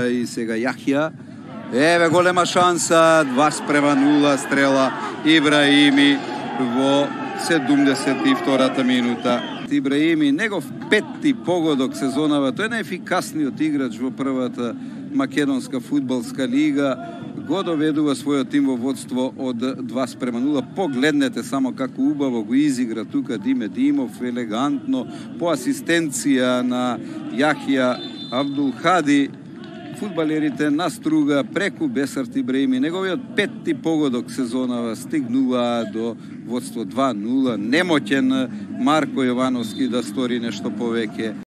и сега Јахја. Еве голема шанса, 2:0 стрела Ибраими во 72-та минута. Ибраими, негов петти погодок сезонава, тој е најефикасниот играч во првата македонска фудбалска лига, го доведува својот тим во водство од 2:0. Погледнете само како убаво го изигра тука Диме Димов, елегантно, по асистенција на Јахја Абдулхади. Фудбалерите на струга преку Бесарт Ибраими, неговиот петти погодок сезонава, стигнува до водство 2:0. Немоќен Марко Јовановски да стори нешто повеќе.